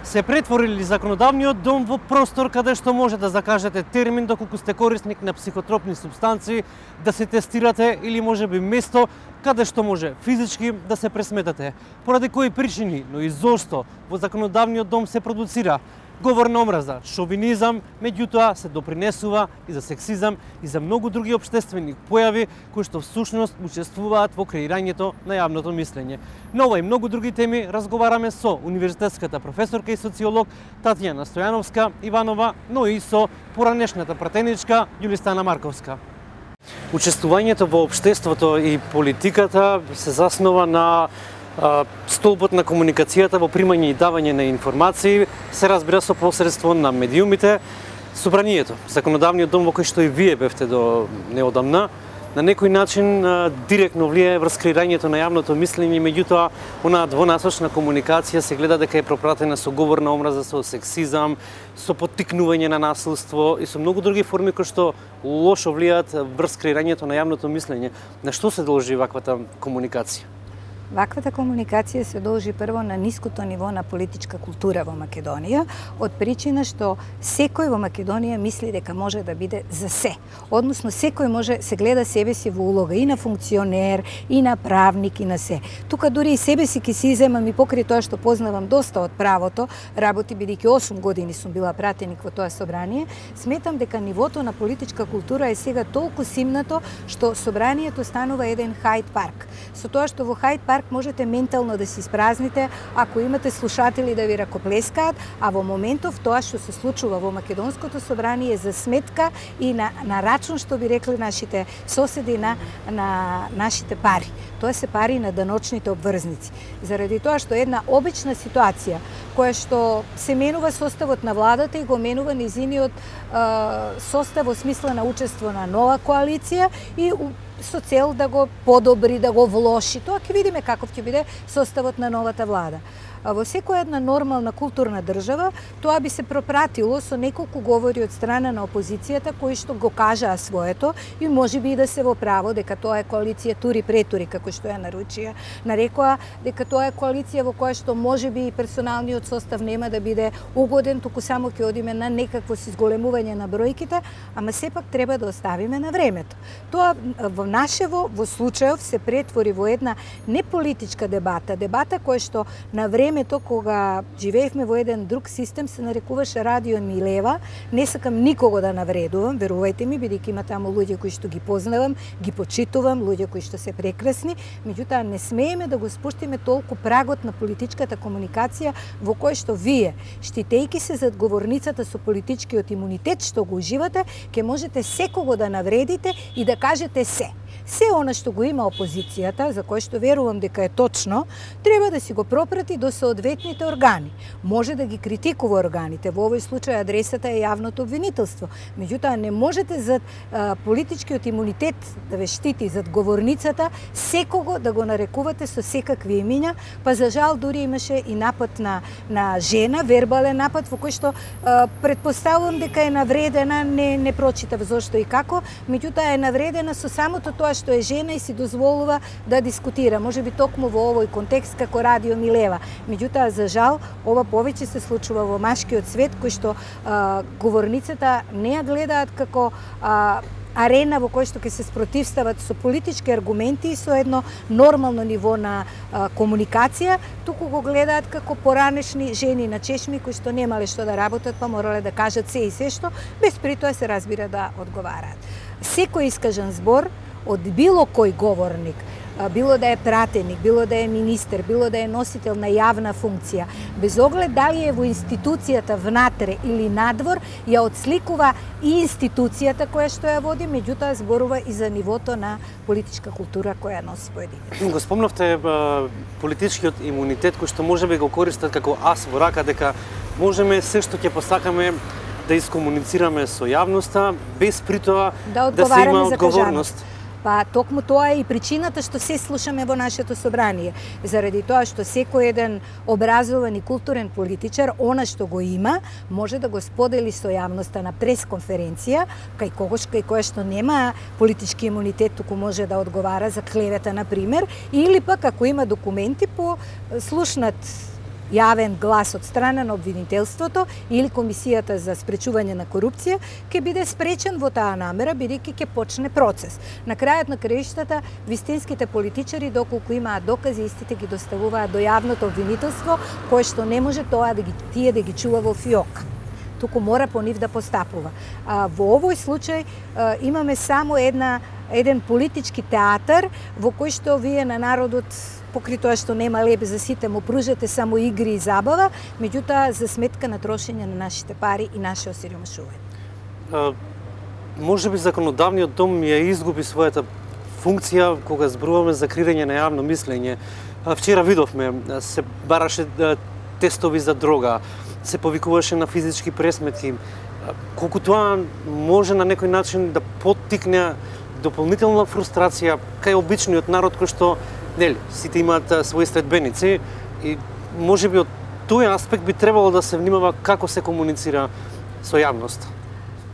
се претворили законодавниот дом во простор каде што може да закажете термин доколку сте корисник на психотропни супстанции, да се тестирате или можеби место каде што може физички да се пресметате. Поради кои причини, но и зошто во законодавниот дом се продуцира говор на омраза, шовинизам, меѓутоа се допринесува и за сексизам и за многу други општествени појави кои што всушност учествуваат во креирањето на јавното мислење. На ова и многу други теми разговараме со универзитетската професорка и социолог Татјана Стојановска Иванова, но и со поранешната пратеничка Јулистана Марковска. Учествувањето во општеството и политиката се заснова на столбот на комуникацијата во примање и давање на информации, се разбира со посредство на медиумите. Собранието, законодавниот дом во кој што и вие бевте до неодамна, на некој начин директно влијае врз креирањето на јавното мислење, меѓутоа онаа двонасочна комуникација се гледа дека е пропратена со говор на омраза, со сексизам, со поттикнување на насилство и со многу други форми кои што лошо влијаат врз креирањето на јавното мислење. На што се должи ваквата комуникација? Ваквата комуникација се должи прво на ниското ниво на политичка култура во Македонија, од причина што секој во Македонија мисли дека може да биде за се. Односно, секој може се гледа себе си во улога и на функционер, и на правник, и на се. Тука дури и себе си ки си иземам и покрај тоа што познавам доста од правото, работи бидејќи 8 години сум била пратеник во тоа собрание, сметам дека нивото на политичка култура е сега толку симнато што собранието станува еден Хајд парк. Со тоа што во Хајд парк можете ментално да се испразните ако имате слушатели да ви ракоплескаат, а во моментов тоа што се случува во Македонското собрание е за сметка и на рачун, што би рекли нашите соседи, на нашите пари. Тоа се пари на даночните обврзници. Заради тоа што една обична ситуација која што се менува составот на владата и го менува низиниот состав во смисла на учество на нова коалиција и со цел да го подобри, да го влоши. Тоа ќе видиме каков ќе биде составот на новата влада. Во секоја една нормална културна држава тоа би се пропратило со неколку говори од страна на опозицијата кои што го кажаа своето и можеби и да се во право дека тоа е коалиција тури-претури, како што ја нарекоа, дека тоа е коалиција во која што можеби и персоналниот состав нема да биде угоден, туку само ќе одиме на некакво изголемување на бројките, ама сепак треба да оставиме на времето. Тоа во нашево, во случајов се претвори во една неполитичка дебата која што на времето кога живеевме во еден друг систем се нарекуваше Радио Милева. Не сакам никого да навредувам, верувајте ми, бидејќи има таму луѓе кои што ги познавам, ги почитувам, луѓе кои што се прекрасни, меѓутоа не смееме да го спуштиме толку прагот на политичката комуникација во кој што вие, штитејќи се зад говорницата со политичкиот имунитет што го уживате, ќе можете секого да навредите и да кажете се. Се она што го има опозицијата, за кое што верувам дека е точно, треба да си го пропрати до соодветните органи. Може да ги критикува органите, во овој случај адресата е јавното обвинителство. Меѓутоа не можете зад политичкиот имунитет да ве штити, зад говорницата, секого да го нарекувате со секакви имиња, па за жал дури имаше и напад на жена, вербален напад во кој што предпоставувам дека е навредена, не прочитав зошто и како, меѓутоа е навредена со самото тоа што е жена и си дозволува да дискутира, можеби токму во овој контекст како Радио Милева. Меѓутоа, за жал, ова повеќе се случува во машкиот свет, кој што говорницата не ја гледаат како арена во кој што ќе се спротивстават со политички аргументи и со едно нормално ниво на комуникација, туку го гледаат како поранешни жени на чешми кои што немале што да работат, па морале да кажат се и се што, без при тоа се разбира да одговараат. Секој искажан збор од било кој говорник, било да е пратеник, било да е министер, било да е носител на јавна функција, без оглед дали е во институцијата внатре или надвор, ја отсликува и институцијата која што ја води, меѓутоа зборува и за нивото на политичка култура која носи поединец. Го спомнавте политичкиот имунитет кој што можеби го користат како ас во рака, дека можеме се што ќе посакаме да искомуницираме со јавноста, без при тоа да се има одговорност. Па токму тоа е и причината што се слушаме во нашето собрание. Заради тоа што секој еден образован и културен политичар, она што го има, може да го сподели со јавноста на пресконференција, кај која што нема политички имунитет, туку може да одговара за клевета, на пример, или пак ако има документи по слушнат јавен глас од страна на обвинителството или Комисијата за спречување на корупција, ќе биде спречен во таа намера, бидејќи ќе почне процес. На крајот на краиштата, вистинските политичари, доколку имаат докази, истите ги доставуваат до јавното обвинителство, кое што не може тоа тие да ги чува во фиок. Туку мора по нив да постапува. Во овој случај имаме само еден политички театар во кој што вие на народот, покри тоа што нема леп за сите, му пружате само игри и забава, меѓутоа за сметка на трошење на нашите пари и наше осиромашување. Може би законодавниот дом ја изгуби својата функција кога зборуваме за креирање на јавно мислење. Вчера видовме, се бараше тестови за дрога, се повикуваше на физички пресметки. Колку тоа може на некој начин да поттикне дополнителна фрустрација кај обичниот народ кој што сите имаат своји следбеници и можеби од тој аспект би требало да се внимава како се комуницира со јавност.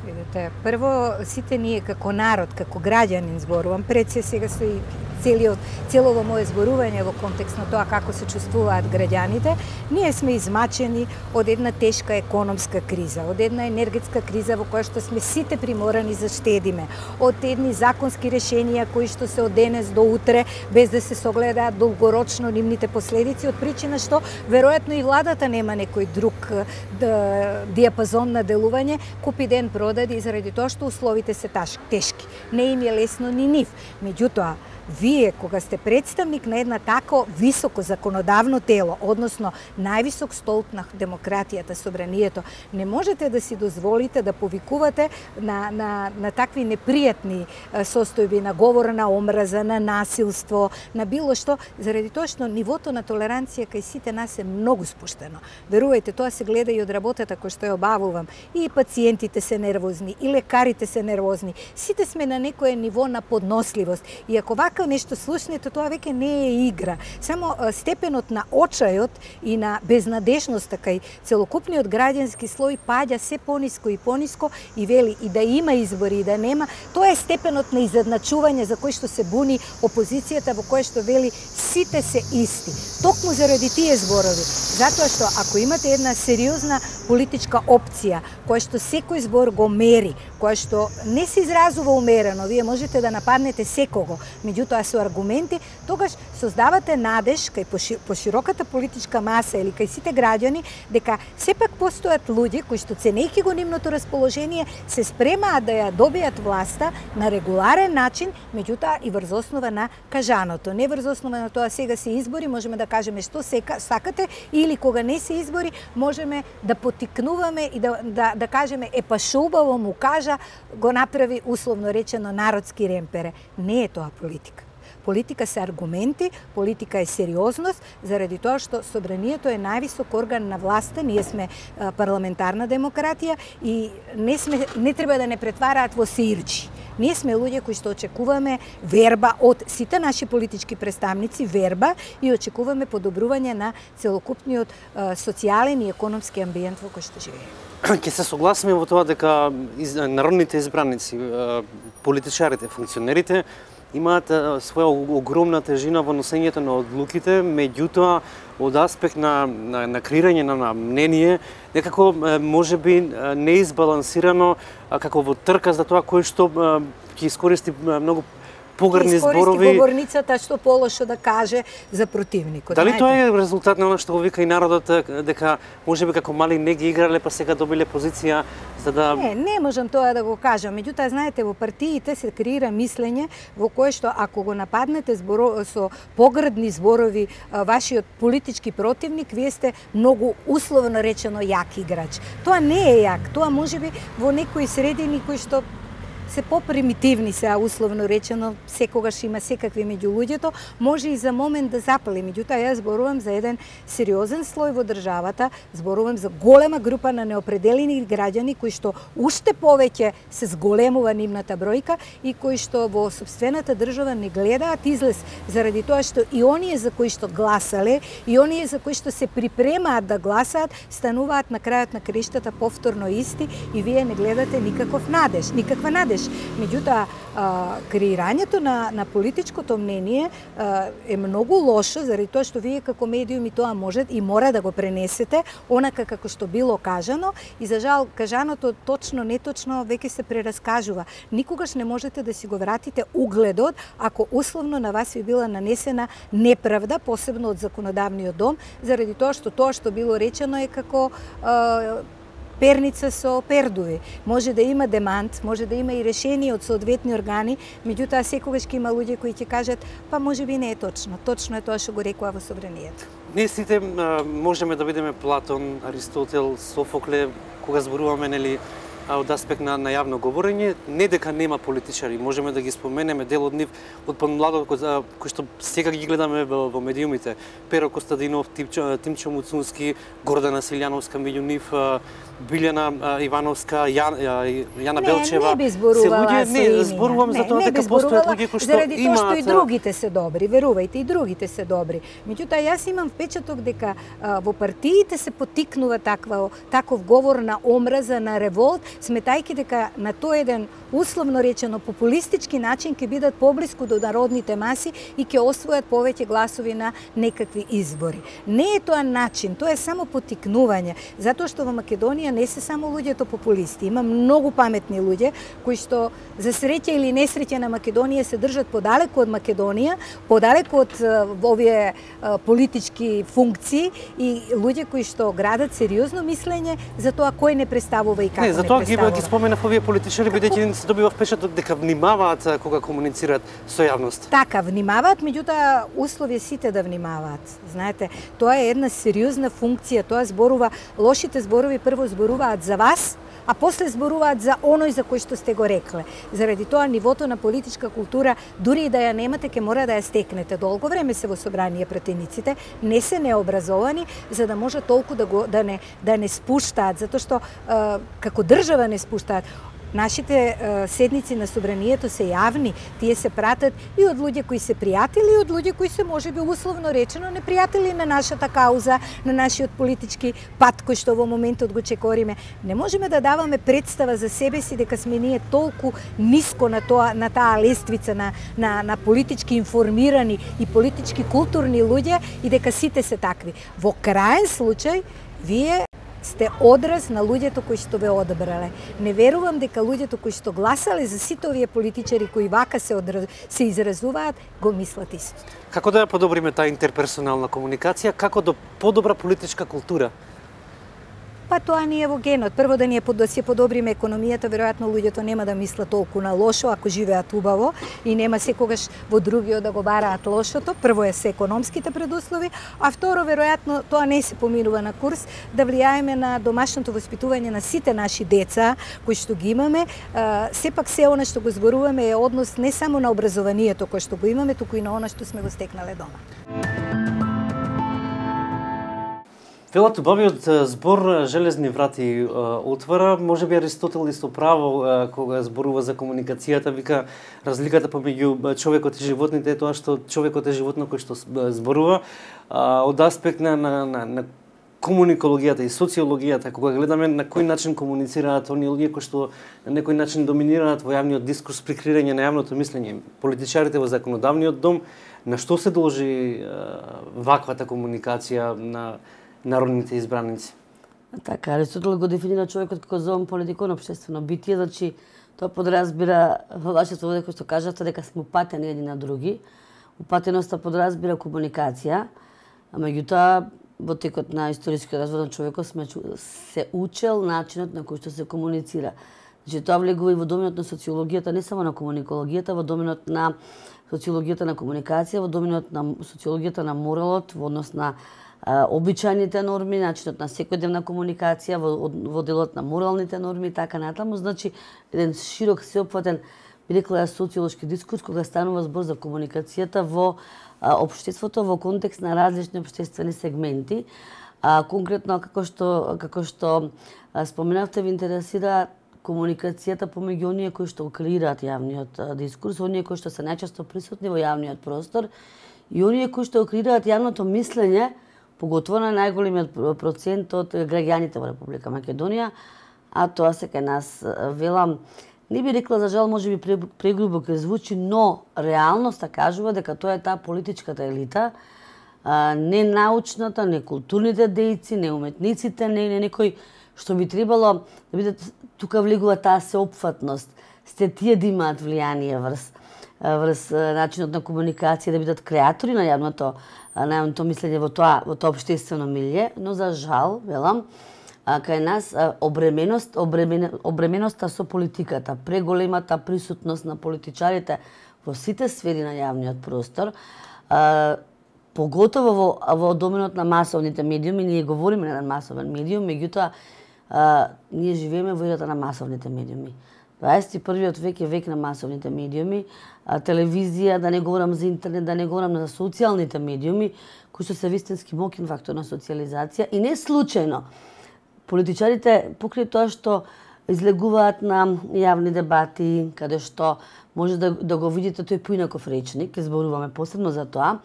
Видете, прво сите ние како народ, како граѓанин зборувам, пред се сега стои целово мое зборување во контекст на тоа како се чувствуваат граѓаните, ние сме измачени од една тешка економска криза, од една енергетска криза во која што сме сите приморани за штедиме, од едни законски решенија кои што се од денес до утре, без да се согледаат долгорочно нивните последици, од причина што веројатно и владата нема некој друг диапазон на делување, купи ден продади заради тоа што условите се тешки. Не им е лесно ни нив. Меѓутоа, вие, кога сте представник на една тако високо законодавно тело, односно највисок столб на демократијата, собранието, не можете да си дозволите да повикувате на такви непријатни состојби, на говор на омраза, на насилство, на било што, заради тоа што нивото на толеранција кај сите нас е многу спуштено. Верувајте, тоа се гледа и од работата која што ја обавувам. И пациентите се нервозни, и лекарите се нервозни. Сите сме на некое ниво на подносливост. И ако нешто слушнете, тоа веќе не е игра. Само степенот на очајот и на безнадежноста кај целокупниот граѓански слој паѓа се пониско и пониско и вели и да има избори и да нема, тоа е степенот на изедначување за кој што се буни опозицијата, во кој што вели сите се исти. Токму заради тие зборови, затоа што ако имате една сериозна политичка опција, која што секој збор го мери, која што не се изразува умерено, вие можете да нападнете секого, меѓутоа со аргументи, тогаш создавате надеж кај пошироката политичка маса или кај сите граѓани дека сепак постојат луѓе кои што ценејќи го нивното расположение се спремаат да ја добијат власта на регуларен начин, меѓутоа и врз основа на кажаното. Не врз основа на тоа сега се избори, можеме да кажеме што сакате, или кога не се избори, можеме да потикнуваме и да кажеме па шо убаво му кажа, го направи условно речено народски ремпере. Не е тоа политика. Политика се аргументи, политика е сериозност, заради тоа што собранието е највисок орган на власта, ние сме парламентарна демократија и не треба да не претвараат во сеирчи. Ние сме луѓе кои што очекуваме верба од сите наши политички представници, верба и очекуваме подобрување на целокупниот социјален и економски амбиент во кој што живееме. Ќе се согласиме во тоа дека народните избраници, политичарите, функционерите имаат своја огромна тежина во носењето на одлуките, меѓутоа од аспект на креирање на мнение, некако можеби неизбалансирано, како во трка за тоа кој што ќе искористи многу погрдни зборови. Искористи говорницата што полошо да каже за противникот. Дали тоа е резултат на она што го вика и народот, дека можеби како мали не ги играле, па сега добиле позиција за да... Не можам тоа да го кажам. Меѓутоа, знаете, во партиите се креира мислење во кое што ако го нападнете со погрдни зборови вашиот политички противник, вие сте многу условно речено јак играч. Тоа не е јак, тоа можеби во некои средини кои што се попримитивни се, условно речено, секогаш има секакви меѓу луѓето, може и за момент да запали. Меѓутоа, јас зборувам за еден сериозен слој во државата, зборувам за голема група на неопределени граѓани кои што уште повеќе се зголемува нивната бројка и кои што во сопствената држава не гледаат излез заради тоа што и оние за кои што гласале и оние за кои што се припремаат да гласаат стануваат на крајот на криштата повторно исти и вие не гледате никаква надеж. видиш. Меѓутоа, креирањето на политичкото мнение е многу лошо, заради тоа што вие како медиуми тоа можете и мора да го пренесете онака како што било кажано, и за жал кажаното точно неточно веќе се прераскажува. Никогаш не можете да си го вратите угледот ако условно на вас ви била нанесена неправда, посебно од законодавниот дом, заради тоа што било речено е како перница со пердуви. Може да има демант, може да има и решение од соодветни органи, меѓутоа секогаш ќе има луѓе кои ќе кажат, па можеби не е точно. Точно е тоа што го рекува во собранието. Ние сите можеме да видиме Платон, Аристотел, Софокле, кога зборуваме нели од аспект на јавно говорење, не дека нема политичари, можеме да ги споменеме дел од нив од помладот кои што сега ги гледаме во медиумите. Перо Костадинов, Тимчо Муцунски, Гордана Силјановска, меѓу нив Билјана Ивановска, Јана Белчева. Не би зборувала со имена. Не, зборувам за тоа дека постојат луѓе кои што заради тоа што имаат... и другите се добри, верувајте, и другите се добри. Меѓутоа, јас имам впечаток дека во партиите се потикнува таков говор на омраза, на револт, сметајќи дека на тој еден условно речено популистички начин ќе бидат поблиску до народните маси и ќе освојат повеќе гласови на некакви избори. Не е тоа начин, тоа е само потикнување, затоа што во Македонија не се само луѓето популисти, има многу паметни луѓе кои што за среќа или несреќа на Македонија се држат подалеку од Македонија, подалеку од овие политички функции и луѓе кои што градат сериозно мислење за тоа кој не представува и како не представува. Не, затоа ги споменав овие политичари, бидејќи се добива впечаток дека внимаваат кога комуницираат со јавност. Така, внимаваат, меѓутоа услов е сите да внимаваат. Знаете, тоа е една сериозна функција, тоа зборува, лошите зборови прво зборуваат за вас, а после зборуваат за оној за кој што сте го рекле. Заради тоа нивото на политичка култура, дури и да ја немате, ќе мора да ја стекнете. Долго време се во собрание пратениците, не се необразовани, за да може толку да не спуштаат, затоа што како држава не спуштаат. Нашите седници на собранието се јавни, тие се пратат и од луѓе кои се пријатели, и од луѓе кои се можеби условно речено непријатели на нашата кауза, на нашиот политички пат кој што во моментот го чекориме. Не можеме да даваме представа за себе си дека сме ние толку ниско на таа лествица на политички информирани и политички културни луѓе и дека сите се такви. Во краен случај, вие сте одраз на луѓето кои што ве одбрале. Не верувам дека луѓето кои што гласале за сите овие политичари кои вака се изразуваат, го мислат исто. Како да ја подобриме таа интерперсонална комуникација, како до подобра политичка култура? Па тоа ни е во генот. Прво да си подобриме економијата, веројатно луѓето нема да мислат толку на лошо ако живеат убаво и нема секогаш во другиот да го бараат лошото. Прво е се економските предуслови, а второ веројатно тоа не се поминува на курс, да влијаеме на домашното воспитување на сите наши деца кои што ги имаме. Сепак се она што го зборуваме е однос не само на образованието кој што го имаме, туку и на она што сме го стекнале дома. Велат убавиот збор железни врати отвара, можеби Аристотел исто право кога зборува за комуникацијата, вика разликата помеѓу човекот и животните е тоа што човекот е животно кој што зборува од аспект на комуникологијата и социологијата, кога гледаме на кој начин комуницираат оние луѓе кои што на некој начин доминираат во јавниот дискурс при креирање на јавното мислење, политичарите во законодавниот дом, на што се должи ваквата комуникација на народните избраници? Така, Аристотел го дефинира човекот како зоон политикон општествено битие, значи тоа подразбира во вашето воде кој што кажавте дека сме упатени едни на други. Упатеноста подразбира комуникација, а меѓутоа во текот на историскиот развој на човекот сме се учел начинот на кој што се комуницира. Значи тоа влегува и во доменот на социологијата, не само на комуникологијата, во доменот на социологијата на комуникација, во доменот на социологијата на моралот, во однос на обичајните норми, начинот на секојдневна комуникација, во делот на моралните норми и така натаму. Значи, еден широк, сеопфатен, би рекла ја социолошки дискурс, кога станува збор за комуникацијата во општеството во контекст на различни општествени сегменти. Конкретно, како што споменавте, ви интересира комуникацијата помеѓу оние кои што креираат јавниот дискурс, оние кои што се најчесто присутни во јавниот простор и оние кои што креираат јавното мислење, поготово на најголемиот процент од граѓаните во Република Македонија, а тоа се кај нас, велам, не би рекла за жал, може би прегрубо ќе звучи, но реалноста кажува дека тоа е таа политичката елита, не научната, не културните дејци, не уметниците, не некој што би требало да биде, тука влегува таа сеопфатност. Сте тие да имаат влијание врз начинот на комуникација, да бидат креатори на јавното мислење во тоа општествено милје, но за жал, велам, кај нас обременоста со политиката, преголемата присутност на политичарите во сите сфери на јавниот простор, поготово во доменот на масовните медиуми, ние говориме на масовен медиум, меѓутоа ние живееме во ерата на масовните медиуми. 21-виот век е век на масовните медиуми, телевизија, да не говорам за интернет, да не говорам за социјалните медиуми, кои што се вистински моќен фактор на социјализација и не случајно. Политичарите, покрај тоа што излегуваат на јавни дебати, каде што може да го видите тој поинаков речник, зборуваме посебно за тоа,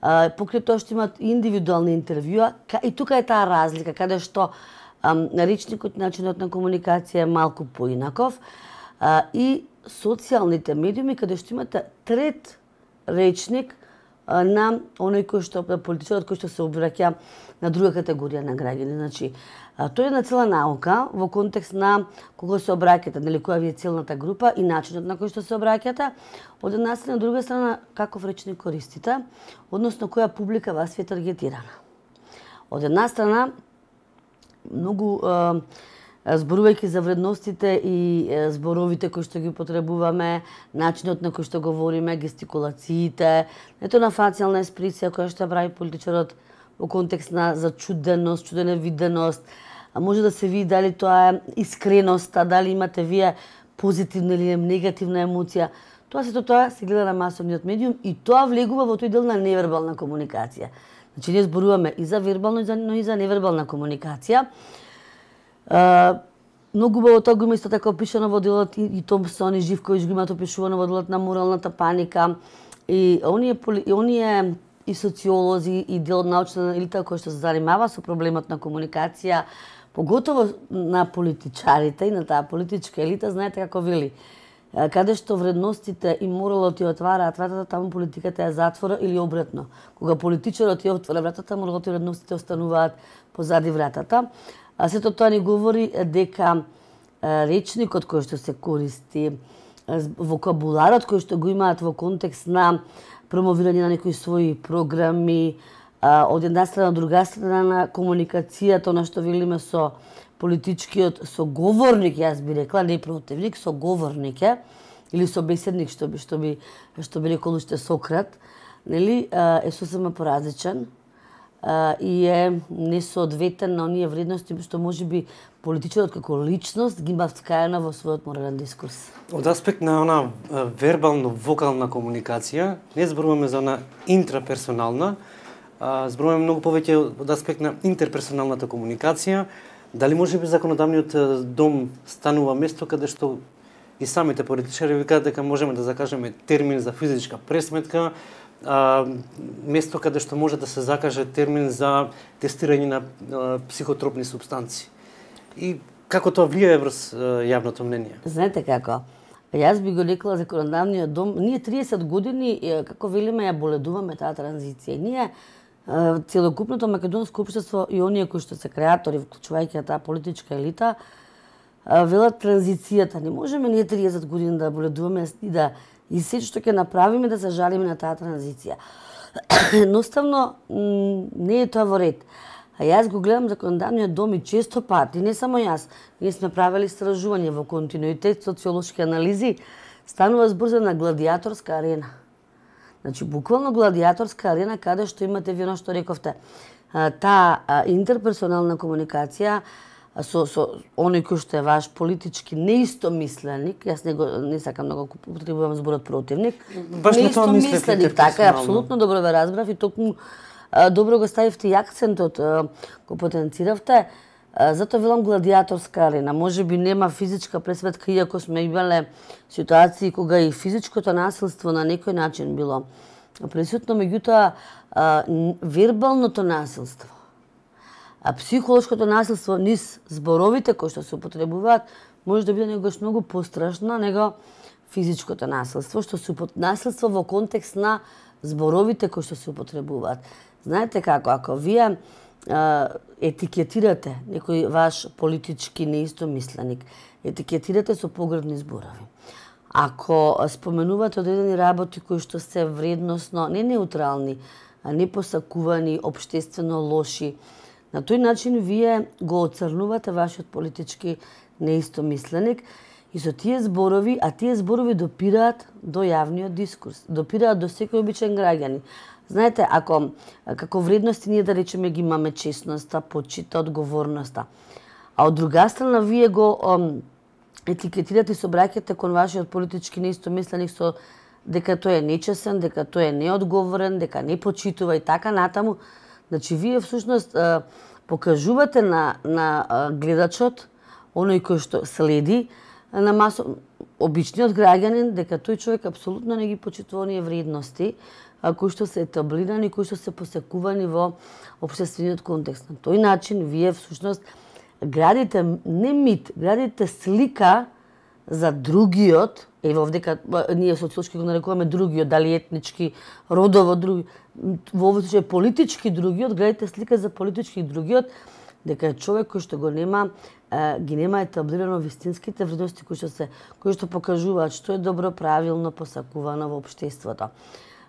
покрај тоа што имаат индивидуални интервјуа, и тука е таа разлика, каде што речникот, начинот на комуникација е малку поинаков, и социјалните медиуми, каде што имате трет речник на оној кој што политичарот кој што се обраќа на друга категорија на граѓани. Значи, тоа е една цела наука во контекст на кога се обраќате, нели која ви е целната група и начинот на кој што се обраќате, од една страна, од друга страна каков речник користите, односно која публика вас е таргетирана. Од една страна, многу зборувајќи за вредностите и зборовите кои што ги потребуваме, начинот на кој што говориме, гестикулациите, ето на фацијална експресија која што прави политичарот во контекст на зачуденост, чуденевиденост, може да се види дали тоа е искреноста, дали имате вие позитивна или негативна емоција. Тоа се гледа на масовниот медиум и тоа влегува во тој дел на невербална комуникација. Значи, ние зборуваме и за вербална, но и за невербална комуникација. Многу убаво тоа го има исто така опишано во делот и Томсон и Живковиќ го имаат опишувано во делот на моралната паника. И оние и социолози и дел од научна елита кој што се занимава со проблемот на комуникација, поготово на политичарите и на таа политичка елита, знаете како вели, каде што вредностите и моралот ја отвараат вратата, таму политиката ја затвора или обратно. Кога политичарот ја отвора вратата, моралот и вредностите остануваат позади вратата. Сето тоа ни говори дека речникот кој што се користи, вокабуларот кој што го имаат во контекст на промовирање на некои своји програми, од една страна, од друга страна на комуникацијата, на што велиме со политичкиот соговорник, јас би рекла, не противник, соговорник е, или собеседник, што би рекол уште Сократ, нели, е сосема поразличен и е несоодветен на оние вредности што можеби политичарот како личност ги има вткаена во својот морален дискурс. Од аспект на она вербално-вокална комуникација, не зборуваме за она интраперсонална, зборуваме многу повеќе од аспект на интерперсоналната комуникација. Дали можеби законодавниот дом станува место каде што и самите политичари викаат дека можеме да закажеме термин за физичка пресметка, место каде што може да се закаже термин за тестирање на психотропни супстанции. И како тоа влијае врз јавното мнение? Знаете како? Јас би го рекла законодавниот дом, ние 30 години, како велиме, ја боледуваме таа транзиција. Ние целокупното македонско општество и оние кои што се креатори, вклучувајќи таа политичка елита, велат транзицијата. Не можеме ние 30 години да боледуваме и се што ќе направиме да се жалиме на таа транзиција. Едноставно не е тоа во ред. А јас го гледам законодавниот дом и често пати, не само јас, ние сме правили истражување во континуитет, социолошки анализи, станува збор за на гладиаторска арена. Значи, буквално гладиаторска арена, каде што имате вие што рековте, таа интерперсонална комуникација со оној кој што е ваш политички неистомисленик, јас не сакам да го употребувам зборот противник, неистомисленик, така е, апсолутно добро ве разбрав и токму добро го ставивте и акцентот го потенциравте, затоа велам гладиаторска арена. Може би нема физичка пресветка, иако сме имале ситуации кога и физичкото насилство на некој начин било присутно, меѓутоа вербалното насилство, психолошкото насилство низ зборовите кои што се употребуваат, може да биде негаш многу пострашна него физичкото насилство, што се насилство во контекст на зборовите кои што се употребуваат. Знаете како, ако вие етикетирате некој ваш политички неистомисленик, етикетирате со погребни зборови. Ако споменувате одредени работи кои што се вредносно не неутрални, а не посакувани, општествено лоши, на тој начин вие го оцрнувате вашиот политички неистомисленик и со тие зборови, а тие зборови допираат до јавниот дискурс, допираат до секој обичен граѓанин. Знаете, ако како вредности ние да речеме ги имаме честноста, почита, одговорноста, а од друга страна вие го етикетирате и се обраќате кон вашиот политички неистомисленик со дека тој е нечесен, дека тој е неодговорен, дека не почитува и така натаму, значи вие всушност покажувате на гледачот, оној кој што следи на обичниот граѓанин, дека тој човек апсолутно не ги почитува оние вредности кои што се етаблирани, кои што се посекувани во општествениот контекст. На тој начин вие всушност градите не мит, градите слика за другиот, ево овдека ние социолошки го нарекуваме другиот, дали етнички, родово други, во овој случај политички другиот, градите слика за политички другиот, дека е човек кој што го нема ги нема етаблирано вистинските вредности кои што покажуваат што е добро, правилно посакувано во општеството.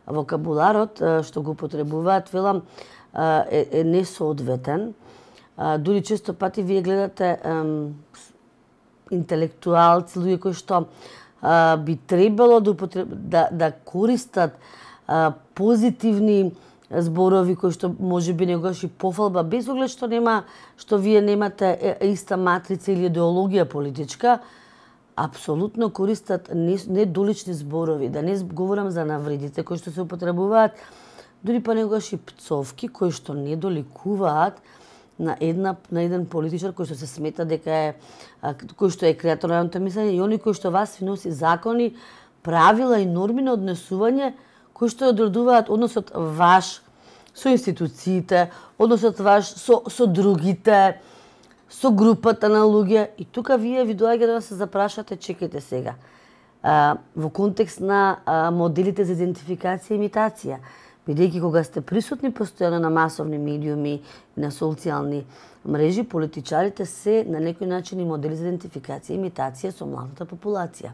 Вокабуларот што го потребуваат, велам, е несоодветен. Дури често пати вие гледате интелектуалци, луѓе кои што би требало да користат позитивни зборови кои што можеби негаш и пофалба, без оглед што вие немате иста матрица или идеологија политичка, апсолутно користат недолични зборови, да не говорам за навредите кои што се употребуваат, дури па негаш и пцовки кои што не доликуваат на еден политичар кој што се смета дека е кој што е креатор на јавното мислење и они кои што вас ви носи закони, правила и норми на однесување кои што одредуваат односот ваш со институциите, односот ваш со другите, со групата на луѓе. И тука вие ви доаѓа да се запрашате, чекајте сега, во контекст на моделите за идентификација и имитација, бидејќи кога сте присутни постојано на масовни медиуми и на социјални мрежи, политичарите се на некој начин и модели за идентификација и имитација со младата популација.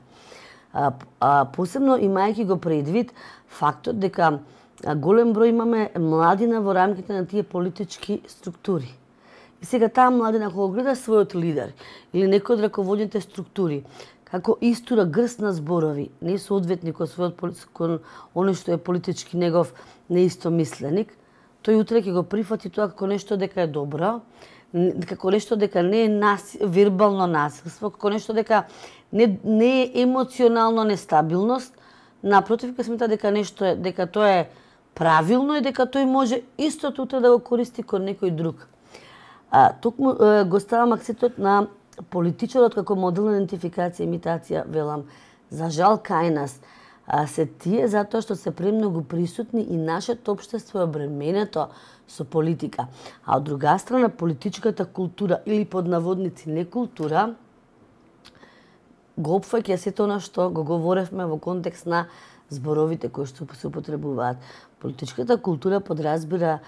Посебно имајќи го предвид фактот дека голем број имаме младина во рамките на тие политички структури. И сега таа младина кога гледа својот лидер или некој од раководните структури, како истура грст на зборови, несоодветни кон оно што е политички негов неистомисленик, тој утре ќе го прифати тоа како нешто дека е добро, како нешто дека не е вербално насилство, како нешто дека не е емоционално нестабилност, напротив ќе смета дека тоа е правилно и дека тој може истото утре да го користи кон некој друг. Токму го ставам акцентот на политичарот како модел на идентификација и имитација, велам, за жал кај нас се тие затоа што се премногу присутни и нашето општество е обременето со политика. А од друга страна политичката култура или под наводници некултура го опфаќа сето она што го говоревме во контекст на зборовите кои што се употребуваат. Политичката култура подразбира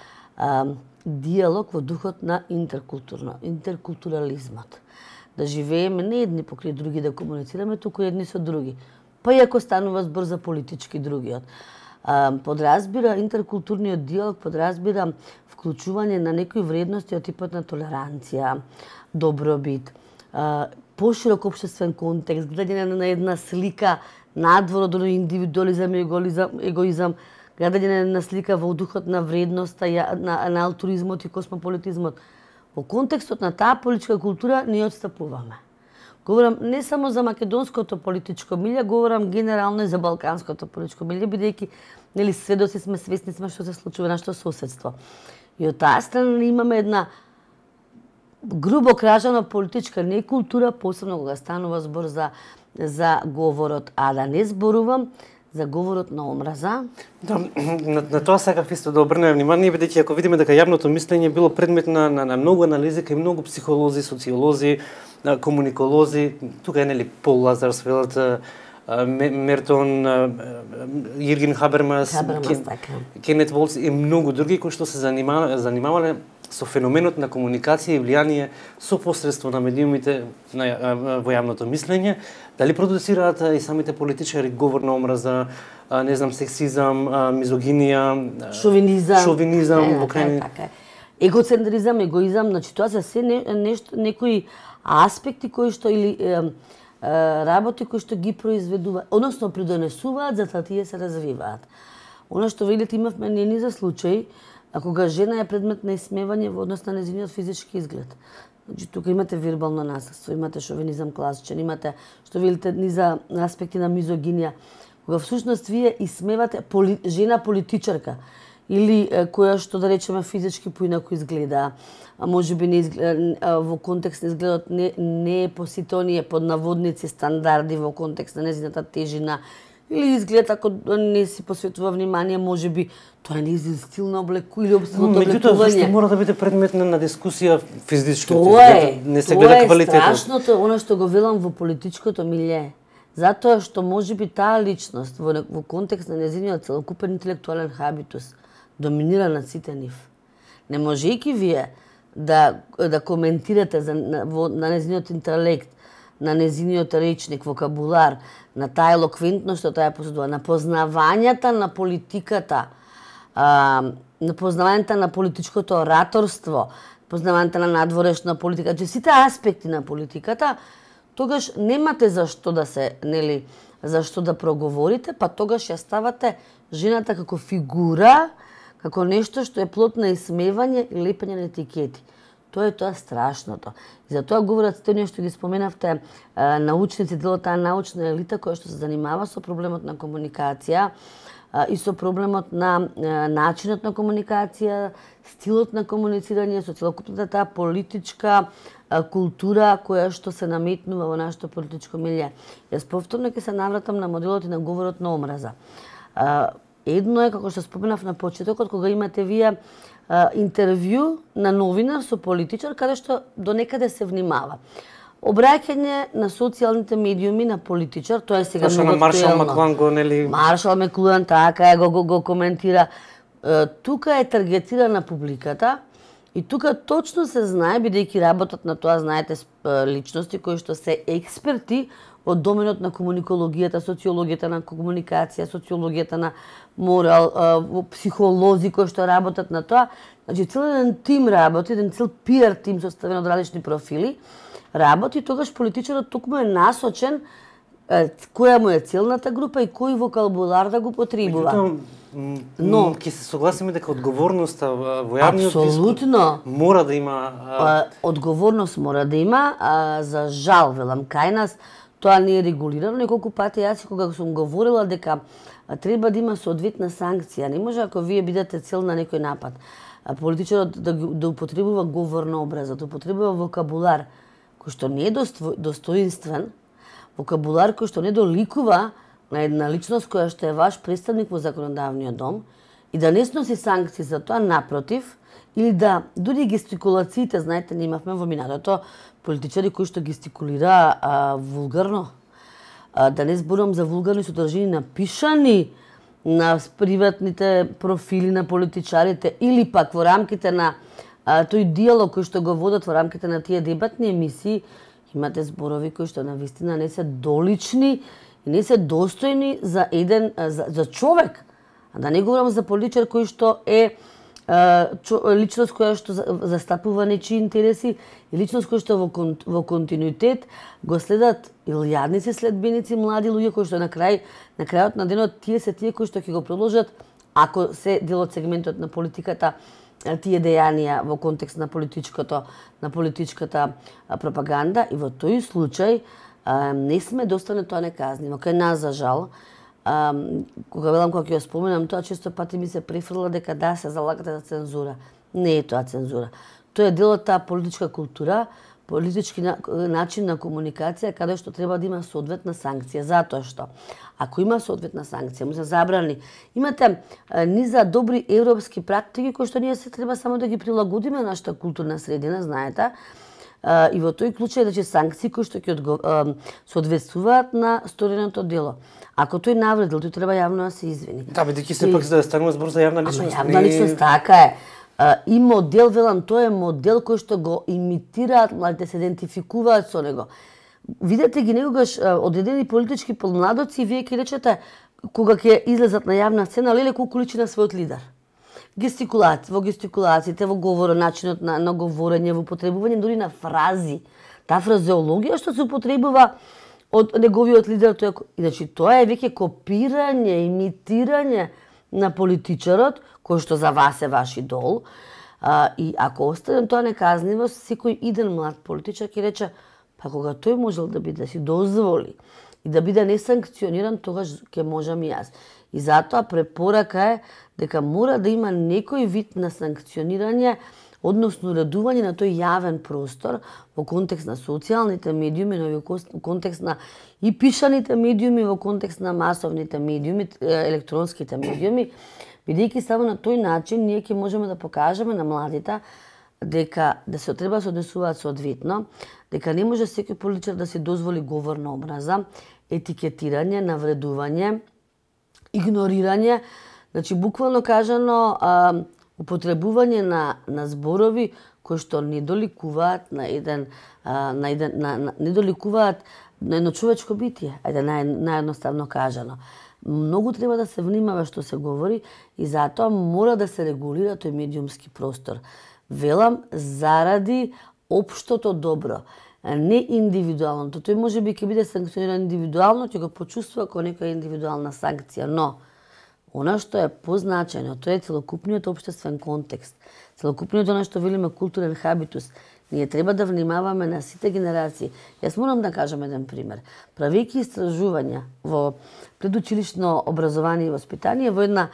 диалог во духот на интеркултурализмот. Да живееме не едни покрај други, да комуницираме, туку едни со други. Па и ако станува збор за политички другиот. Подразбира интеркултурниот диалог, подразбира вклучување на некои вредности од типот на толеранција, добробит, поширок општествен контекст, гледање на една слика надвор од индивидуализам и егоизам, гледање на една слика во духот на вредноста, на алтуризмот и космополитизмот. Во контекстот на таа политичка култура не отстапуваме. Говорам не само за македонското политичко милје, говорам генерално и за балканското политичко милје, бидејќи сведоци сме, свесни сме што се случува на нашето соседство. И од таа страна имаме една грубо кажано политичка некултура, посебно кога станува збор за говорот, а да не зборувам за говорот на омраза. Да, на тоа сакав исто да обрнеме внимание, бидејќи ако видиме дека јавното мислење било предмет на многу анализи кај многу психолози, социолози, комуниколози, тука е нели Пол Лазарсфелд, Мертон, Јирген Хабермас, Кенет Волц и многу други кои што се занимавале со феноменот на комуникација и влијание со посредство на медиумите во јавното мислење, дали продуцираат и самите политичари говор на омраза, не знам, сексизам, мизогинија, шовинизам во крајни. Егоцентризам, егоизам, значи тоа се се некои аспекти кои што или работи кои што ги произведуваат, односно придонесуваат за да тие се развиваат. Она што видите имавме ние за случај, а кога жена е предмет на исмевање во однос на нејзиниот физички изглед. Значи тука имате вербално насилство, имате шовинизам класичен, имате што видите низа аспекти на мизогинија, кога всушност вие исмевате жена политичарка или која што да речеме физички поинаку изгледа, а можеби не во контекст на изгледот не е по сите оние под наводници стандарди во контекст на нејзината тежина, или изглед ако не си посветува внимание, можеби тоа не е стил на облеку или обстилот облекување. Меѓутоа, зашто мора да биде предмет на дискусија физички? Не се гледа квалитетот. Тоа е страшното, она што го велам во политичкото милје. Затоа што можеби таа личност во контекст на нејзиниот целокупен интелектуален хабитус доминира над сите нив. Не можејќи вие да коментирате на нејзиниот интелект, на нејзиниот речник, вокабулар, на таа елоквентност што таа поседува, на познавањата на политиката, на познавањата на политичкото ораторство, познавањата на надворешна политика, че сите аспекти на политиката, тогаш немате зашто да се, нели, зашто да проговорите, па тогаш ја ставате жената како фигура, како нешто што е плод на исмевање и лепење на етикети. Тоа е тоа страшното. И за тоа говорат сте што ги споменавте научници, дело таа научна елита која што се занимава со проблемот на комуникација и со проблемот на начинот на комуникација, стилот на комуницирање, со целокупната таа политичка култура која што се наметнува во нашето политичко милје. Јас повторно ќе се навратам на моделот и на говорот на омраза. Едно е, како што споменав на почетокот, кога имате вие интервју на новинар со политичар, каде што до некаде се внимава. Обраќање на социјалните медиуми на политичар, тоа е сега многу актуелно. Маршал Маклуан го, нели? Маршал Маклуан, така е, го коментира. Тука е таргетирана публиката и тука точно се знае, бидејќи работат на тоа, знаете, личности кои што се експерти од доменот на комуникологијата, социологијата на комуникација, социологијата на морал, психолози кои што работат на тоа. Значи, цел еден тим работи, еден цел пиар тим составен од различни профили, работи, тогаш политичарот токму е насочен која му е целната група и кој вокабулар да го потребува. Но ќе се согласиме дека одговорноста во јавниот дискурс мора да има. Одговорност мора да има, за жал велам кај нас тоа не е регулирано. Неколку пати јас кога сум говорила дека треба да има соодветна санкција. Не може ако вие бидете цел на некој напад, политичарот да употребува говор на образот, да употребува вокабулар кој што не е достоинствен, вокабулар кој што не доликува на една личност која што е ваш представник во законодавниот дом и да не сноси санкции за тоа, напротив, или да дури гестикулациите, знаете, не имавме во минатото политичари кои што гестикулира вулгарно. Да не зборувам за вулгарни содржини напишани на приватните профили на политичарите или пак во рамките на тој диалог кој што го водат во рамките на тие дебатни емисии, имате зборови кои што навистина не се долични и не се достојни за еден за човек. А да не говорам за политичар кој што е личност која што застапува нечии интереси и личност која што во континуитет го следат илјадници следбеници, млади луѓе кои што на крајот на денот тие се тие кои што ќе го продолжат, ако се дел од сегментот на политиката, тие дејанија во контекст на политичката пропаганда, и во тој случај не сме доста тоа неказниво. Кај нас, за жал, кога велам, кога ќе ја споменам тоа, често пати ми се префрла дека да, се залагате за цензура. Не е тоа цензура. Тоа е дел од таа политичка култура, политички начин на комуникација каде што треба да има соодветна санкција, затоа што ако има соодветна санкција, му се забрани. Имате низа добри европски практики кои што ние се треба само да ги прилагодиме на нашата културна средина, знаете. И во тој случај санкции кои што ќе соодветствуваат на стореното дело. Ако тој навредил, тој треба јавно да се извини. Да, бидејќи сепак да станува збор за јавна личност. Јавна личност, така е. И модел, велам, тој е модел кој што го имитираат младите, се идентификуваат со него. Видете ги некогаш одредени политички помладоци и вие ќе речете кога ќе излезат на јавна сцена, леле колку личи на својот лидер. Во гестикулациите, во говорот, начинот на говорење, во употребување дури на фрази. Таа фразеологија што се употребува од неговиот лидер, значи тоа е веќе копирање, имитирање на политичарот, кој што за вас е ваш идол. И ако оставим тоа неказниво, секој иден млад политичар ќе рече, па кога тој можел да си дозволи и да биде несанкциониран, тогаш ќе можам и јас. И затоа препорака е дека мора да има некој вид на санкционирање, односно уредување на тој јавен простор во контекст на социјалните медиуми, но во контекст на и пишаните медиуми, во контекст на масовните медиуми, електронските медиуми, бидејќи само на тој начин ние ќе можеме да покажеме на младите дека се треба да се однесуваат соодветно, дека не може секој политичар да се дозволи говор на омраза, етикетирање, навредување, игнорирање, значи буквално кажано употребување на зборови кои што не доликуваат на едно човечко битие, ајде наједноставно кажано. Многу треба да се внимава што се говори и затоа мора да се регулира тој медиумски простор. Велам заради општото добро, не индивидуалното. Тој може би ќе биде санкциониран индивидуално, ќе го почувствува како некоја индивидуална санкција, но она што е позначајно, тоа е целокупниот општествен контекст, целокупниот она што велиме културен хабитус. Ние треба да внимаваме на сите генерации. Јас морам да кажам еден пример. Правејќи истражувања во предучилишно образование и воспитание во една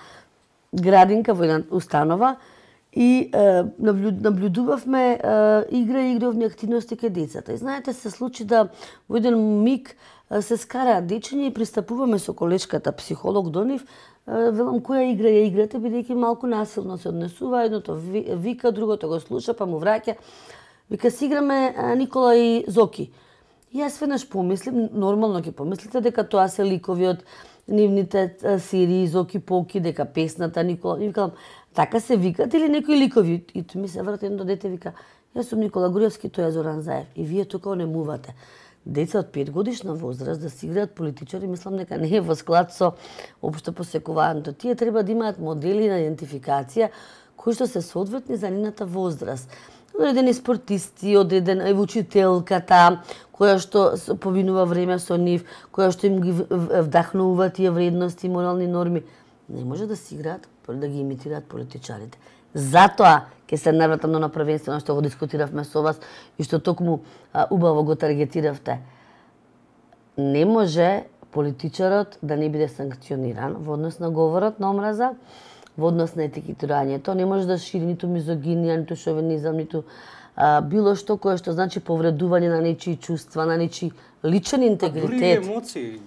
градинка, во една установа, и наблюдувавме игровни активности кај децата. И знаете, се случи да во еден миг се скараат дечиња и пристапуваме со колешката психолог до нив, велам која игра ја играте, бидејќи малку насилно се однесува, едното вика, другото го слуша, па му враќа. Вика, си играме Никола и Зоки. И јас веднаш помислим, нормално ќе помислите дека тоа се ликови од нивните серии Зоки Поки, дека песната Никола. И викам, така се викат или некои ликови? И ми се врати едно дете, вика, јас сум Никола Груевски, тој е Зоран Заев. И вие тука онемувате. Деца од 5 годишна возраст да си играат политичари, мислам дека не е во склад со општо посекувањето. Тие треба да имаат модели на идентификација кои што се соодветни за нивната возраст. Одредени спортисти, одредена учителката, која што повинува време со нив, која што им ги вдахнува тие вредности и морални норми. Не може да си играат, да ги имитираат политичарите. Затоа ќе се навратам на првенствено што го дискутиравме со вас и што токму убаво го таргетиравте. Не може политичарот да не биде санкциониран во однос на говорот на омраза, во однос на етикетирањето. Не може да шири ниту мизогинија, ниту шовинизам, ниту било што кое што значи повредување на нечии чувства, на нечии личен интегритет. Дури емоции.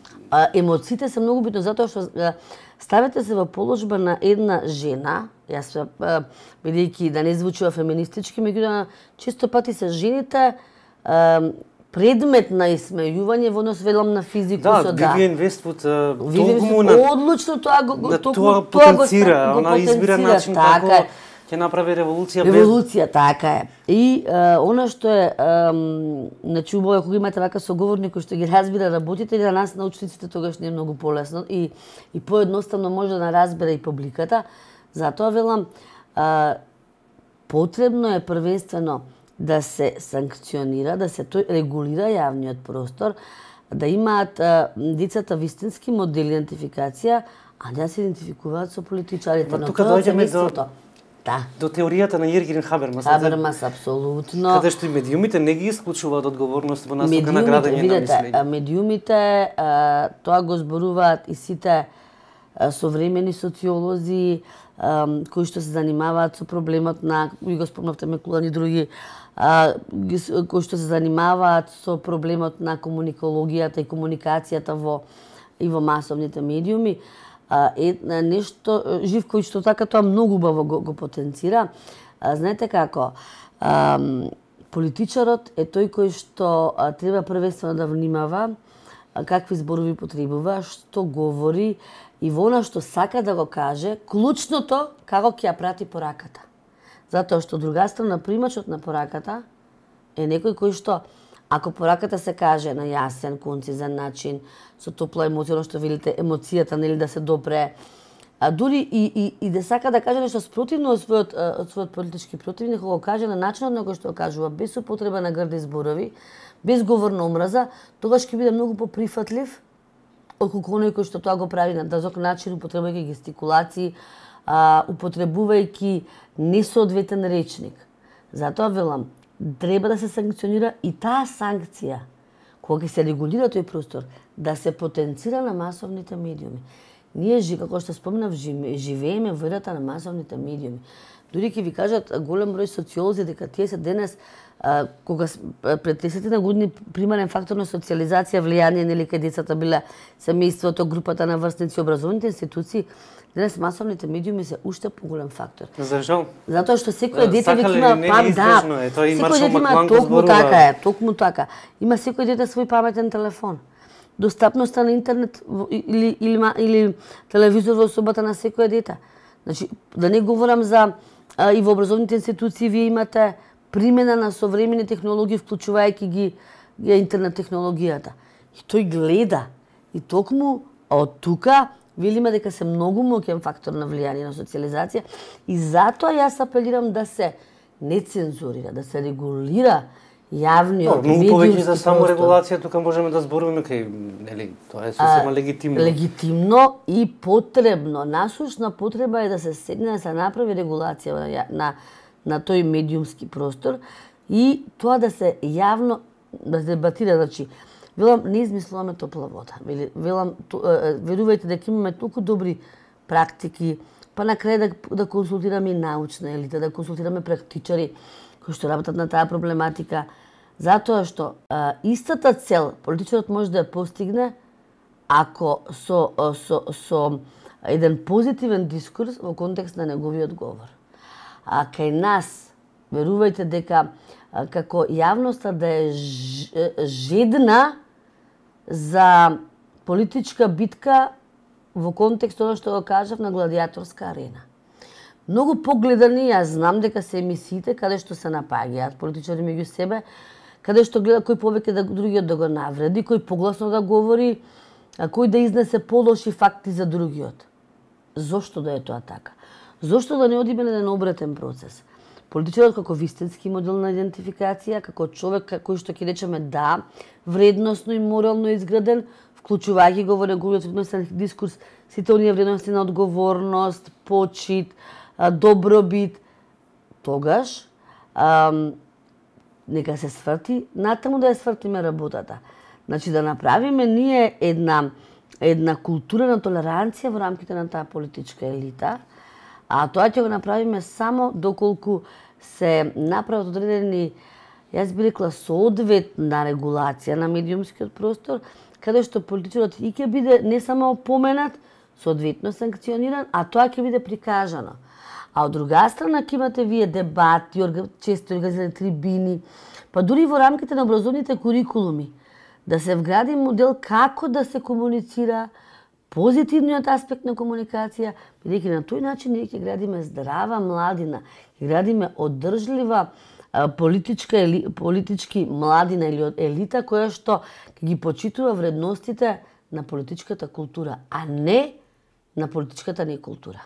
Емоциите се многу битно затоа што ставете се во положба на една жена, јас бидејќи да не звучува феминистички, меѓутоа често пати се жените предмет на исмејување во однос велам на физикус. Да, Вивиен Вествуд толку на одлучно тоа го потенцира, она избира начин како ќе направи револуција без... Револуција, така е. И она што е, значи убаво кога имате вака соговорник кој што ги разбира работите, за нас научниците тогаш не е многу полесно и поедноставно може да разбере и публиката. Затоа велам, потребно е првенствено да се санкционира, да се регулира јавниот простор, да имаат децата вистински модели идентификација, а да се идентификуваат со политичарите. Но тука доаѓаме до теоријата на Јергин Хабермас. Хабермас, апсолутно. Каде што и медиумите не ги исклучуваат одговорност во насока на градење на мислење. Медиумите, тоа го зборуваат и сите современи социолози кои што се занимаваат со проблемот на, ви го спомнавте Мекулан и други, кои што се занимаваат со проблемот на комуникологијата и комуникацијата во масовните медиуми. Нешто Живко што така тоа многу убаво го потенцира. Знаете како, политичарот е тој кој што треба првенствено да внимава какви зборови потребува, што говори и во она што сака да го каже, клучното како ќе ја прати пораката. Затоа што друга страна примачот на пораката е некој кој што, ако пораката се каже на јасен, концизен начин, со топла емоција, што велите емоцијата, нели, да се допре, дури и да сака да каже нешто спротивно од својот политички противник, го каже на начинот на кој што го кажува, без употреба на грди зборови, без говор на омраза, тогаш ќе биде многу поприфатлив отколку оној кој што тоа го прави на дазок начин, употребувајќи гестикулации, употребувајќи несоодветен речник. Затоа велам, треба да се санкционира и таа санкција, кога ќе се регулира тој простор, да се потенцира на масовните медиуми. Ние, како што спомнав, живееме во ерата на масовните медиуми. Дури ќе ви кажат голем број социолози дека тие се денес, кога пред 30 години примарен фактор на социализација, влијание, нели, кај децата биле семејството, групата на врсници, образовните институции, денес масовните медиуми се уште поголем фактор. Зашо? Затоа што секој дете веќе има секој дете има токму така. Има секој дете свој паметен телефон. Достапноста на интернет или телевизор во собата на секој дете. Значи, да не говорам за и во образовните институции вие имате примена на современи технологии, вклучувајќи ги интернет технологијата. И тој гледа. И токму од тука велиме дека се многу моќен фактор на влијание на социализација и затоа јас апелирам да се не цензурира, да се регулира јавниот медиумски простор. Повеќе за саморегулација тука можеме да зборуваме кај, нели, тоа е сосема легитимно. Легитимно и потребно. Насушна потреба е да се седне да се направи регулација на тој медиумски простор и тоа да се јавно да се дебатира, значи велам, не измислуваме топла вода. Велам, верувајте дека имаме толку добри практики, па на крај да консултираме и научна елита, да консултираме практичари кои што работат на таа проблематика, затоа што истата цел политичарот може да ја постигне ако со еден позитивен дискурс во контекст на неговиот говор. А кај нас, верувајте дека како јавноста да е жедна за политичка битка во контекст тоа што го кажав на гладиаторска арена. Многу погледани, јас знам дека се емисиите каде што се напаѓаат политичари меѓу себе, каде што гледа кој повеќе да другиот да го навреди, кој погласно да говори, кој да изнесе полоши факти за другиот. Зошто да е тоа така? Зошто да не одиме на еден обратен процес? Политичарот како вистински модел на идентификација, како човек кој што ќе речеме да, вредносно и морално изграден, вклучувајќи го во неговиот вредностен дискурс сите оние вредности на одговорност, почит, добробит, тогаш нека се сврти, натаму да ја свртиме работата. Значи да направиме ние една култура на толеранција во рамките на таа политичка елита, а тоа ќе го направиме само доколку се направат одредени, јас би рекла, соодветна регулација на медиумскиот простор, каде што политичарот и ќе биде не само опоменат, соодветно санкциониран, а тоа ќе биде прикажано. А од друга страна ќе имате вие дебати, често организирани трибини, па дури во рамките на образовните курикулуми, да се вгради модел како да се комуницира, позитивниот аспект на комуникација, бидејќи на тој начин ние ќе градиме здрава младина, ќе градиме одржлива политички младина или елита која што ќе ги почитува вредностите на политичката култура, а не на политичката некултура.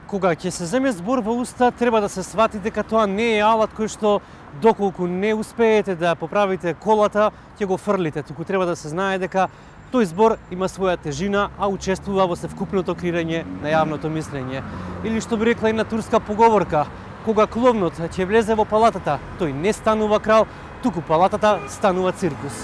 Кога ќе се земе збор во уста, треба да се свати дека тоа не е алат кој што доколку не успеете да поправите колата, ќе го фрлите. Туку треба да се знае дека тој збор има своја тежина, а учествува во севкупното креирање на јавното мислење. Или што би рекла една турска поговорка, кога кловнот ќе влезе во палатата, тој не станува крал, туку палатата станува циркус.